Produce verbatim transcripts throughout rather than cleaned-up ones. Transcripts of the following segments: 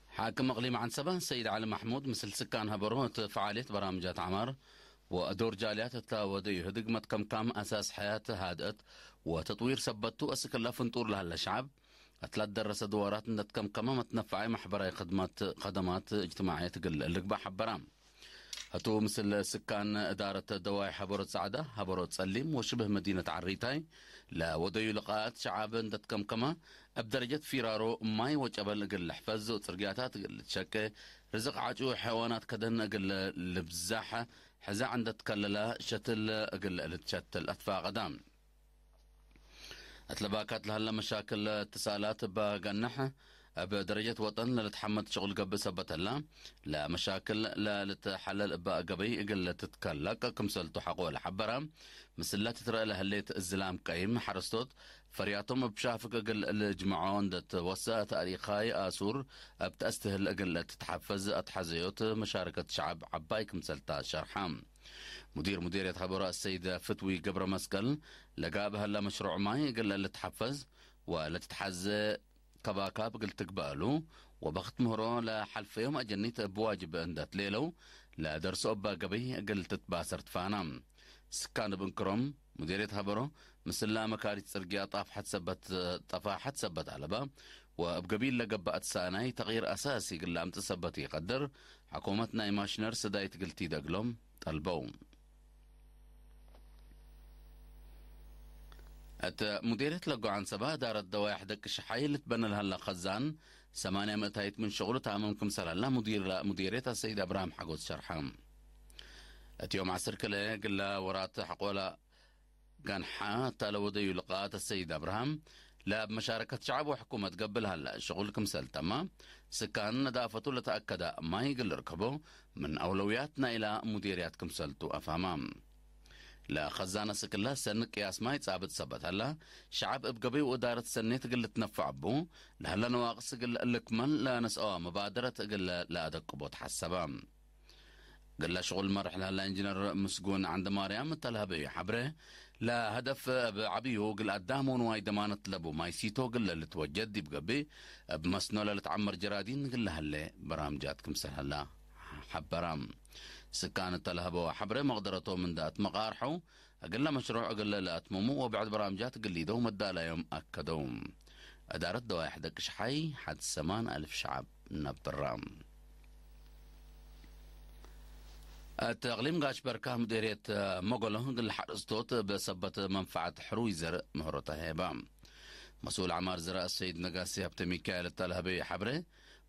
ሓክም እቅሊም ዐንሰበ ሰይድ ዐሊ መሕሙድ ምስል ስካን ሀበሮ፣ እት ፈዓልየት በራምጃት ዐማር ወዶር ጃልያት እተ ወደዩ ህድግ መትከምካም አሳስ ሐያት ሃድአት ወተጥዊር ሰበት ቱ፣ አስክ እለ ፍንጡር ለሀለ ሸዐብ እት ለትደረሰ ድዋራት እንደ ትከምከመ መትነፈዐ መሕበራዊ ክድመት፣ ከደማት እጅትማዕየት እግል ልግበእ ሐበረ። ህቱ ምስል ስካን እዳረት ደዋይ ሐበሮ ጸዕዳ፣ ሐበሮ ጸሊም ወሽብህ መዲነት ዐሪታይ ለወደዩ ልቃት ሸዓብ እንደ ትከምከመ፣ እብ ደረጀት ፊራሮ ማይ ወጨበል እግል ልሕፈዝ ወጽርግያታት እግል ልትሸቄ፣ ርዝቅ ዐጩ ሐይዋናት ከደን እግል ልብዛሕ፣ ሕዛዕ እንደ ትከለለ ሸትል እግል ልትሸትል አትፋቀደ። እት ለባካት ለሀለ መሻክል እትሳላት እበ ገንሕ፣ እብ ደረጀት ወጠን ለልትሐመድ ሽቁል ገብእ ሰበት ህላ፣ ለመሻክል ለልትሐለል እበ ገበይ እግል ልትትከለቅ ክምሰልቱ ሐቆ ለሐበረ፣ ምስለ ትትረአ ለህሌት እዝላም ቀይም ሐረስቶት ፈርያቶም እብ ሻፍግ እግል ልጅምዖ እንደ ትወሰእ፣ ተእሪኻይ አሱር እብ ተአስትህል እግል ልትትሐፈዝ አትሐዘዮት መሻረከት ሸዐብ ዐባይ ክምሰልታ ሸርሐ። ሙዲር ሙዲርየት ሐበሮ አሰይድ ፍትዊ ገብረ መስቀል፣ ለጋብእ ሀላ መሽሩዕ ማይ እግል ልትሐፈዝ ወለትትሐዜ ከባካብ እግል ትግበእ እሉ፣ ወበክት ምህሮ ለሐልፈዮም አጀኒት እብ ዋጅብ እንደ ትሌለው ለደርሶ እበ ገበይ እግል ትትባሰር ትፋና። ስካን እብ እንክሮም፣ ሙዲርየት ሐበሮ፣ ምስላ መካሪት ጽርግያ ጣፍሐት ሰበት፣ ጠፋሐት ሰበት አለበ፣ ወእብ ገቢል ለገብአት ሳናይ ተቅይር አሳሲ እግል ለአምጽእ ሰበት ኢቀድር፣ ሐኩመት ናይ ማሽነር ስዳይት እግል ቲደ እግሎም ጠልበው። እት ሙዲርየት ለጎ ዐንሰበ እዳረት ደዋይሕ ደቂ ሸሓይ ልትበነ ለሀለ ከዛን ሰማንያ ምእታይት ምን ሽቅሉ ታምም ክምሰል ሀላ ሙዲር ሙዲርየት አሰይድ አብርሃም ሐጎስ ሸርሐ። እት ዮም ዐስር ክልኤ ግለ ወራት ሐቆለ ገንሐ እተ ለወደዩ ልቃት አሰይድ አብርሃም፣ ለእብ መሻረከት ሸዐብ ወሕኩመት ገብእ ለሀለ ሽቁል ክምሰል ተመ፣ ስካን ነዳፈቱ ለተአከደ ማይ እግል ልርከቦ ምን አውለውያት ናይላ ሙዲርያት ክምሰልቱ አፋማ። ለከዛነ ስክላ ሰኒ ቅያስ ማይ ጻብጥ ሰበት ሀላ፣ ሸዐብ እብ ገበይ ወእዳረት ሰኔት እግል ልትነፈዕ እቡ ለሀለ ነዋቅስ እግል ልክመል ለነስአወ መባደረት እግል ለአደቅቦ ተሐሰበ። እግለ ሽቁል መርሕ ለሀለ ኢንጅነር ምስጉን ዐንደማርያም እተ ለሀበዩ ሐብሬ፣ ለሀደፍ እብ ዐብዩ እግል አዳም ወንዋይ ደማነት ለቡ ማይ ሲቶ እግል ልትወጀድ ዲብ ገብእ፣ እብ መስኖ ለልትዐመር ጀራዲን እግል ለሀሌ በራምጃት ክምሰል ሀላ ሐበራ። ስካን እተ ለሀበወ ሐብሬ መቅደረቶም እንደ አትመቃርሐው፣ እግለ መሽሩዕ እግለ ለአትምሙ ወብዕድ በራምጃት እግል ሊደው መዳላዮም አከደው። እዳረት ደዋይሕ ደቅሽሓይ ሐድ ሰማን አልፍ ሸዐብ ነብራ። እት እቅሊም ጋሽ በርካ ምዴርየት መጎሎ እግል ሐረስቶት እብ ሰበት መንፈዐት ሕሩይ ዘርእ ምህሮ ተሄበ። መስኡል ዐማር ዘርእ ሰይድ ነጋሲ ሀብተ ሚካኤል እተ ለሀበዩ ሐብሬ፣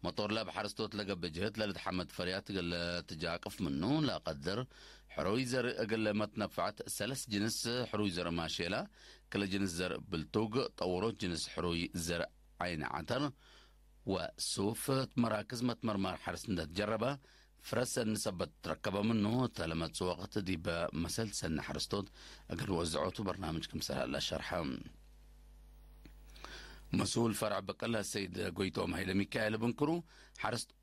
መጦር ለእብ ሐረስቶት ለገብእ ጅህድ ለልትሐመድ ፈርያት እግል ትጃቅፍ ምኑ ለቀድር ሕሩይ ዘርእ እግል መትነፈዐት ሰለስ ጅንስ ሕሩይ ዘርእ ማሼላ፣ ክለ ጅንስ ዘርእ ብልቱግ፣ ጠውሮት ጅንስ ሕሩይ ዘርእ ዓይን ዐተር ወሱፍ እት መራክዝ መትመርማር ሐርስ እንደ ትጀረበ፣ ፍረ ሰኒ ሰበት ትረከበ ምኑ፣ እተ ለመጽእ ወቅት ዲበ መሰል ሰኒ ሐረስቶት እግል ወዝዖቱ በርናምጅ ክምሰል ሀለ ሸርሐ። መስኡል ፈርዕ በቀለ ሰይድ ጎይቶም ሀይለ ሚካኤል እብ እንክሩ፣ ሐረስቶት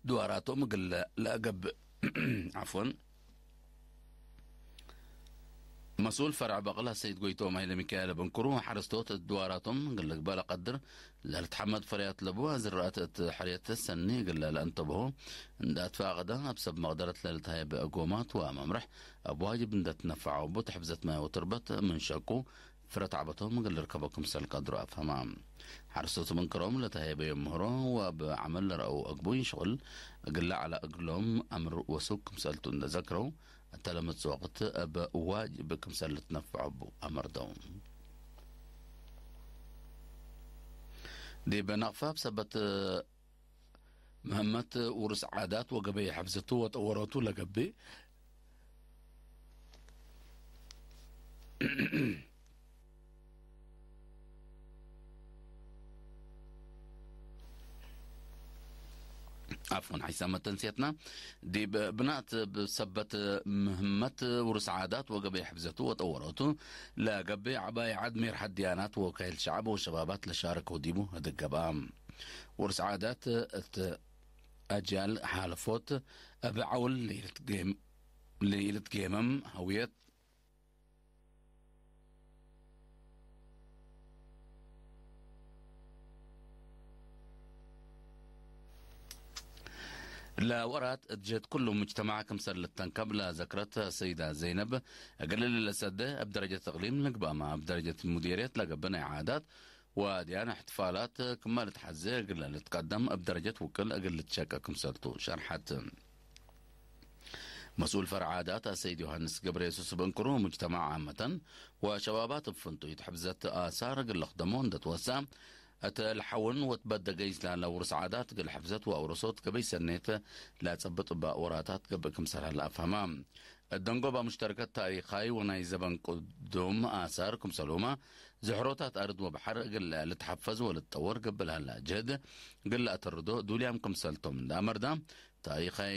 ድዋራቶም እግል ለአገብእ፣ ዐፍወን፣ መስኡል ፈርዕ በቅለ ሰይድ ጎይቶም ሀይለ ሚካኤል እብ እንክሩ፣ ሐረስቶት እት ድዋራቶም እግል ልግበእ ለቀድር ለልትሐመድ ፈርያት ለቡ ዝራእት እት ሕርየት ሰኒ እግል ለአንተብሆ እንደ አትፋቀደ፣ እብ ሰብ መቅደረት ለልትሀየበ እጎማት ወመምርሕ እብ ዋጅብ እንደ ትነፈዐው እቡ፣ ተሕፍዘት ማይ ወትርበት ምን ሸቁ ፍረ ተዕበቶም እግል ልርከቦ ክምሰል ቀድሮ አፍሀማ። ሐረስቶት እብ እንክሮም ለተሀየበዮም ምህሮ ወእብ ዐመል ለረአው አግቡይ ሽቅል እግል ለዐለ እግሎም አምር ወሱግ ክምሰልቱ እንደ ዘክረው፣ እተ ለመጽእ ወቅት እብ ዋጅብ ክምሰል ልትነፈዖ እቡ አመርደው። ዲብ ነቅፋ እብ ሰበት ምህመት ውርስ ዓዳት ወገበይ ሐፍዘቱ ወጠወረቱ ለገብእ፣ ዐፍወን፣ ሐይሳመት ተንስየትና ዲብ ብናት እብ ሰበት ምህመት ውርስ ዓዳት ወገበይ ሕፍዘቱ ወጠወረቱ ለገብእ ዐባይ ዐድ ሜርሐት ድያናት ወወካይል ሸዐብ ወሸባባት ለሻረከው ዲቡ ህድግ ገብአ። ውርስ ዓዳት እት አጅያል ሓለፎት እብ ዐውል ለኢልትጌም-፣ ለኢልትጌመም ሀውየት ለወራት እት ጀህት ኩሉ ሙጅተማዕ ክምሰል ልተንከብ ለዘክረት ሰይዳ ዘይነብ፣ እግል ለሰደ እብ ደረጀት እቅሊም ልግባማ እብ ደረጀት ሙዲርየት ለገብእ ናይ ዓዳት ወአድያን እሕትፋላት ክመ ልትሐዜ እግል ልትቀደም እብ ደረጀት ውቅል እግል ልትሸቀ ክምሰልቱ ሸርሐት። መስኡል ፈርዕ ዓዳት አሰይድ ዮሐንስ ገብረየሱስ እብ እንክሩ፣ ሙጅተማዕ ዓመተን ወሸባባት እብ ፍንቱይ እት ሕፍዘት አሳር እግል ልክደሞ እንደ ትወሰ፣ እት ለሐውን ወትበደገ ኢዝላለ ውርስ ዓዳት እግል ሕፍዘት ወአውረሶት ገበይ ሰኔት ለጸብጥ እበ ወራታት ገብእ ክምሰል ሀለ አፍሀማ። እት ደንጎባ ሙሽተረከት ታሪኻይ ወናይ ዘበን ቅዱም አሳር ክምሰልሁመ፣ ዝሕሮታት አርድ ወበሐር እግል ልትሐፈዝ ወልትጠወር ገብእ ለሀለ ጅህድ እግል ለአተርዶ ዱልያም ክምሰልቶም እንደ አመርዳ፣ ታሪኻይ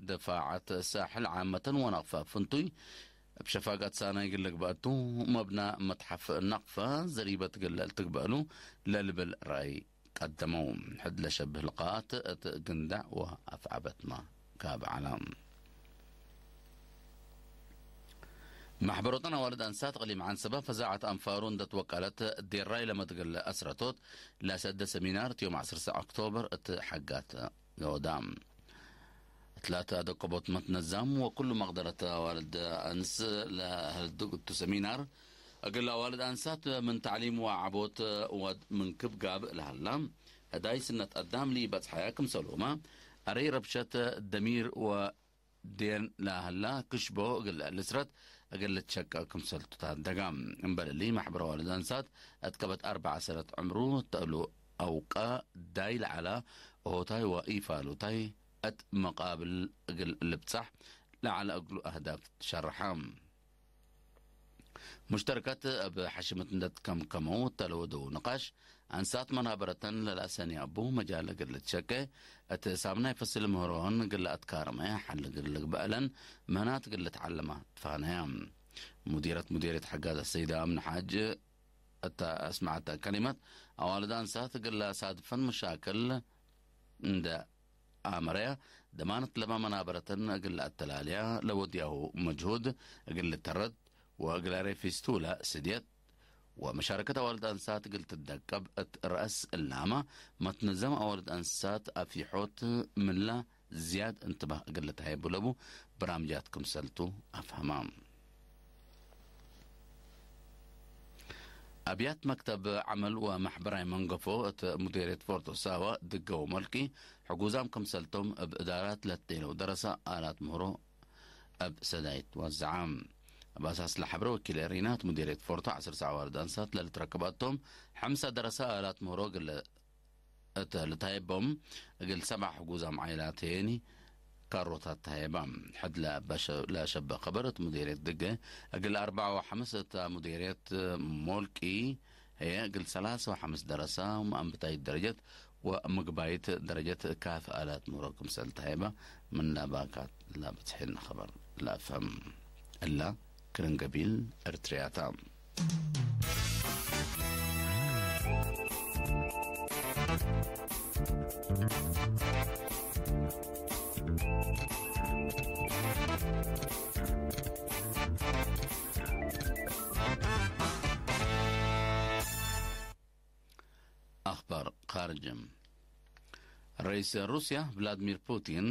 ደፋዐት ሳሕል ዓመተን ወነቅፈ ፍንቱይ እብ ሸፋጋት ሳናይ እግል ልግበአቱ፣ መብና መትሐፍ ነቅፈ ዘሪበት እግል ልትግበእሉ ለልብል ረአይ ቀደመው። ሕድ ለሸብህ ልቃት እት ግንዳዕ ወአፍዐበትመ ካብ ዐለ። መሕበሮተን አዋልድ አንሳት እቅሊም ዐንሰበ ፈዛዐት አንፋሩ እንደ ትወቀለት ዴራይ ለመትግል አስረቶት ለሰደ ሰሚናር እት ዮም ዐስር ሰዕ ኦክቶበር እት ሐጋት ዮዳ። እትላተ አደቆቦት መትነዛም ወኩሉ መቅደረት አዋልድ አንስ ለህልድግ እቱ ሰሚናር፣ እግል አዋልድ አንሳት ምን ተዕሊም ወዐቦት ወድ ምንክብ ጋብእ ለሀላ፣ ህዳይ ስነት አዳም ለኢበጽሐያ ክምሰልሁመ፣ አረይ ረብሸት ደሚር ወዴን ለሀላ ክሽቦ እግል ልስረት እግል ልትሸቀ ክምሰልቱ ታደጋ። እምበል እሊ፣ መሕበር አዋልድ አንሳት እት ከበት አርበዕ ሰነት ዕምሩ ተእሉ አውቀ ዳይ ለዐለ ሆታይ ወኢፋሉታይ እት መቃብል እግል ልብጻሕ ለዐለ እግሉ አህዳፍ ትሸርሐ። ሙሽተርከት እብ ሐሽመት እንደ ትከምከመው እተ ለወደው ንቃሽ፣ አንሳት መናበረተን ለለአሰንያቡ መጃል እግል ልትሸቄ፣ እት ሳምናይ ፈስል ምህሮን እግል ለአትካርመ፣ ሐል እግል ልግበአለን ምህናት እግል ልትዓለማ ትፋነያ። ሙዲረት ሙዲርየት ሐጋዝ አሰይደ አምነ ሓጅ እተ አስመዐተ ከሊመት፣ አዋልድ አንሳት እግል ለአሳድፈን መሻክል እንደ አመረያ፣ ደማነት ለመ መናበረተን እግል ለአተላልያ ለወድያሁ መጅሁድ እግል ልተረድ ወእግል አሬ ፊስቱላ ስድየት ወመሻረከት አዋልድ አንሳት እግል ትደቀብ እት ረአስ እላመ መትንዘም አዋልድ አንሳት አፊሖት ምንላ ዝያድ እንትባህ እግል ልትሀየቡ ለቡ በራምጃት ክምሰልቱ አፍሀማ። አብያት መክተብ ዐመል ወመሕበራይ መንገፎ እት ሙዴርየት ፎርቶ ሳዋ ድገው መልኪ ሕጉዛም ክምሰልቶም እብ እዳራት ለትዴለው ደረሰ አላት ምህሮ እብ ሰዳይት ወዘዐ። እብ አሳስ ለሐብረ ወኪል ኤሪናት ሙዴርየት ፎርቶ ዐስር ሰዕ አዋልድ አንሳት ለልትረክብ አቶም፣ ሐምሰ ደረሰ አላት ምህሮ እግል እተ ልታየቦም እግል ሰብዓ ሕጉዛም ዓይላት ህዬኒ ካሮታት ተሀየባ። ሕድ ለአበ ሸ-፣ ለሸበ ከበር እት ሙዴርየት ድገ እግል አርበዕ ወሐምስ እተ ሙዴርየት ሞልቂ ህዬ እግል ሰላሰ ወሐምስ ደረሳ ወመአንብታይት ደረጀት ወምግባይት ደረጀት ካፍ አላት ምህሮ ክምሰል ተሀየባ ምን ለባካት ለበጽሐነ ከበር ለአፍሀም። እላ ክርን ገቢል እርትርያታ። አኽባር ካርጅ። ረኢስ ሩስያ ቭላድሚር ፑቲን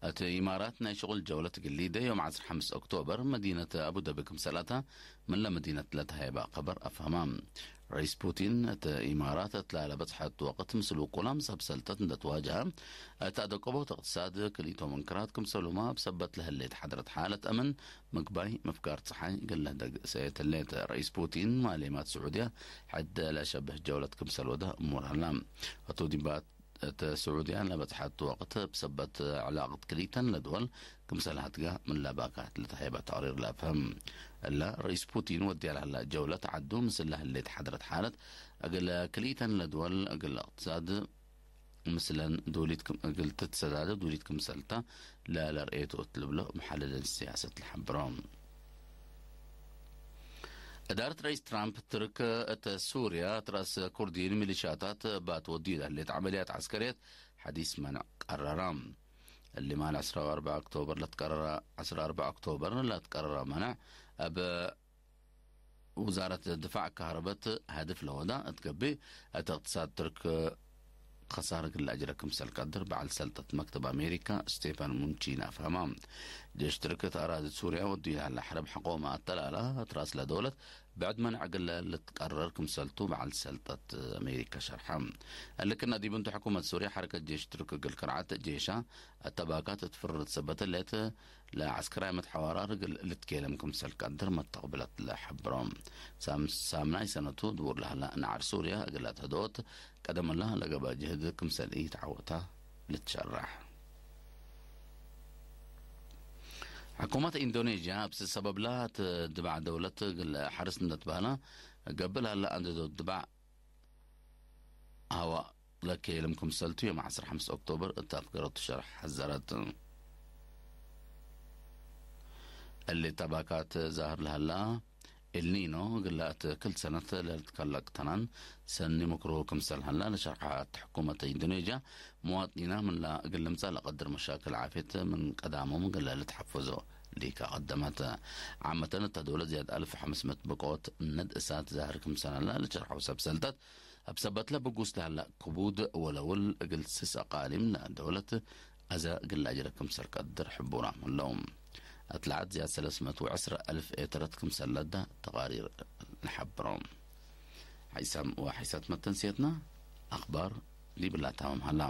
እት ኢማራት ናይ ሽቁል ጀውለት እግል ሊደ ዮም ዐስር ሐምስ ኦክቶበር መዲነት አቡደቢ ክምሰል አታ ምን ለመዲነት ለተሀየበ ከበር አፍሀማ። ረኢስ ፑቲን እት ኢማራት እት ላለ በጽሐት ወቅት ምስል ውቁላም ሰብ ሰልጠት እንደ ትዋጀሀ እት አደቀቦት እቅትሳድ ክልኢቶም እንክራት ክምሰሉማ እብ ሰበት ለህሌት ሐድረት ሓለት አምን ምግባይ ምፍጋር ጸሓይ እግል ለህደግ ሰእየት ህሌት። ረኢስ ፑቲን ማሌማት ስዑድያ ሕድ ለሸብህ ጀውለት ክምሰል ወደ እሙር ሀላ። ህቱ ዲባት እት ስዑድያ ለበጽሐት ወቅት እብ ሰበት ዕላቅት ክልኢተን ለድወል ክምሰል ሀትጋ ምን ለባካት ለተሀይበ ተቅሪር ለአፍህም። እለ ረኢስ ፑቲን ወድያ ለህላ ጀውለት ዐዱ ምስል ለህሌት ሐድረት ሓለት እግል ክልኢተን ለድወል እግል እቅትሳድ ምስለን ዱሊት ክም-፣ እግል ትትሰዳደ ዱሊት ክምሰልታ ለለርእየቱ እት ልብሎ መሐልልን ሲያሰት ለሐብሮ። እዳረት ረኢስ ትራምፕ ትርክ እተ ሱርያ እት ረአስ ኩርዲን ሚሊሻታት እባ ትወድዩ ለህሌት ዐመልያት ዐስከርየት ሐዲስ መንዕ ቀረራ። እሊ ማል ዕስራ ወአርበዕ ኦክቶበር ለትቀረረ፣ ዕስራ ወአርበዕ ኦክቶበር ለትቀረረ መነዕ፣ እብ ውዛረት ድፋዕ ካህረበት ሀድፍ ለወዳ እት ገብእ፣ እት እቅትሳድ ትርክ ከሳር እግል ለአጅረ ክምሰል ቀድር በዐል ሰልጠት መክተብ አሜሪካ ስቴፋን ሙንቺን አፍሀማ። ጄሽ ትርክ እት አራዲ ሱርያ ወዱ ለሀለ ሐርብ ሐቆመ አተላላ እት ራስ ለደውለት ብዕድ መንዕ እግል ልትቀረር ክምሰልቱ በዐል ሰልጠት አሜሪካ ሸርሐ። እሊ ክእነ ዲብ እንቱ ሕኩመት ሱርያ ሐረከት ጄሽ ትርክ እግል ክርዓት ጄሻ እተ ባካት እት ፍርር ሰበት ሌት ለዐስከራይ መትሐዋራር እግል ልትኬለም ክምሰል ቀድር መተቅብለት ለሐብሮ። ሳም-፣ ሳምናይ ሰነቱ ድቡር ለሀላ ነዓር ሱርያ እግል አትሀደወት ቀደምላ ለገብአ ጅህድ ክምሰል ኢተዐወታ ልትሸረሕ። ሕኩመት ኢንዶኔዥያ እብ ሰበብላ እት ድባዕ ደውለት እግል ሐርስ እንዴ ትበህለ ገብእ ለሀላ አንድዶ ድባዕ ሀዋ ለኬልም ክምሰልቱ ዮም ዐስር ሐምስ ኦክቶበር እት አፍገረቱ ሸርሕ ሐዘረት። እሊ ተባካት ዛህር ለሀላ ኤልኒኖ እግለ እት ክል ሰነት ለልትከለቅ ተናን ሰኒ ምክርሁ ክምሰል ሀላ ለሸርሐት ሕኩመት ኢንዶኔዥያ፣ መዋጥኒና ምንላ እግል ልምጸእ ለቀድር መሻክል ዓፍየት ምን ቀዳሞም እግለ ልትሐፈዞ ሊከ ቀደመት። ዓመተን እተ ደውለት ዝያድ አልፍ ወሐምስ ምእት ብቆት ነድ እሳት ዛህር ክምሰል ሀላ ለሸርሐው ሰብ ሰልጠት፣ እብ ሰበትለ ብጉስ ለሀለ ክቡድ ወለውል እግል ስስ አቃሊም ለደውለት አዘ እግል ለአጅረ ክምሰል ቀድር ሕቡራም ህለው። አትለዓት ዝያድ ሰለስ ምእት ወዕስር አልፍ ኤተረት ክምሰል ለደ ተቃሪር ለሐብሮ። ሐይሳም ወሐይሳት መተንስየትና አክባር ዲብላ ታምም ሀላ።